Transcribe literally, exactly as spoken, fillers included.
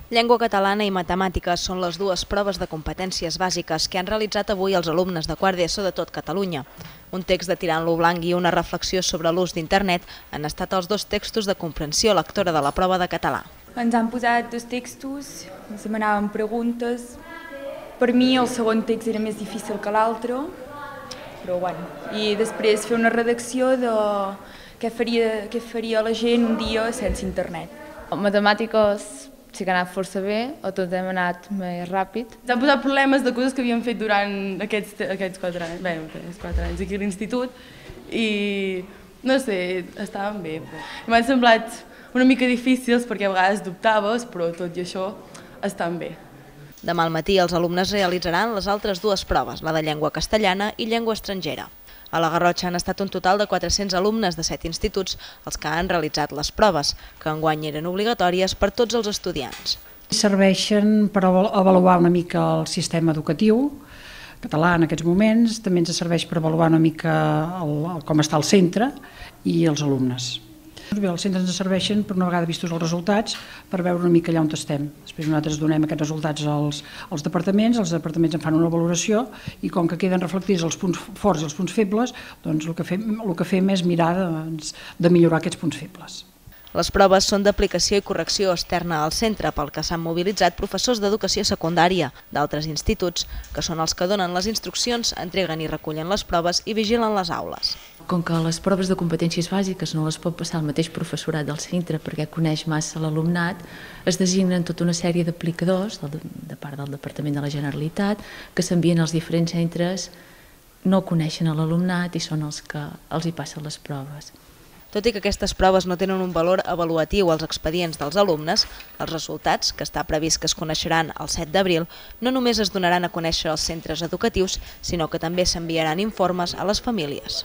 Llengua catalana i matemàtiques són les dues proves de competències bàsiques que han realitzat avui els alumnes de quart d'ESO de tot Catalunya. Un text de tirant-lo blanc i una reflexió sobre l'ús d'internet han estat els dos textos de comprensió lectora de la prova de català. Ens han posat dos textos, ens demanaven preguntes. Per mi el segon text era més difícil que l'altre, però bueno. I després fer una redacció de què faria, què faria la gent un dia sense internet. Matemàtiques sí que ha anat força bé, o tot hem anat més ràpid. Ens han posat problemes de coses que havíem fet durant aquests, aquests quatre anys, bé, aquests quatre anys aquí a l'institut, i no sé, estaven bé. M'han semblat una mica difícils perquè a vegades dubtaves, però tot i això estan bé. Demà al matí els alumnes realitzaran les altres dues proves, la de llengua castellana i llengua estrangera. A la Garrotxa han estat un total de quatre-cents alumnes de set instituts els que han realitzat les proves, que enguany eren obligatòries per tots els estudiants. Serveixen per avaluar una mica el sistema educatiu català en aquests moments, també ens serveix per avaluar una mica el, el, com està el centre i els alumnes. Bé, els centres ens serveixen, per una vegada vistos els resultats, per veure una mica allà on estem. Després nosaltres donem aquests resultats als, als departaments, els departaments en fan una valoració i com que queden reflectits els punts forts i els punts febles, doncs el que fem, el que fem és mirar de, de millorar aquests punts febles. Les proves són d'aplicació i correcció externa al centre, pel que s'han mobilitzat professors d'educació secundària d'altres instituts, que són els que donen les instruccions, entreguen i recullen les proves i vigilen les aules. Com que les proves de competències bàsiques no les pot passar el mateix professorat del centre perquè coneix massa l'alumnat, es designen tota una sèrie d'aplicadors de part del Departament de la Generalitat que s'envien als diferents centres, no coneixen l'alumnat i són els que els hi passen les proves. Tot i que aquestes proves no tenen un valor avaluatiu als expedients dels alumnes, els resultats, que està previst que es coneixeran el set d'abril, no només es donaran a conèixer als centres educatius, sinó que també s'enviaran informes a les famílies.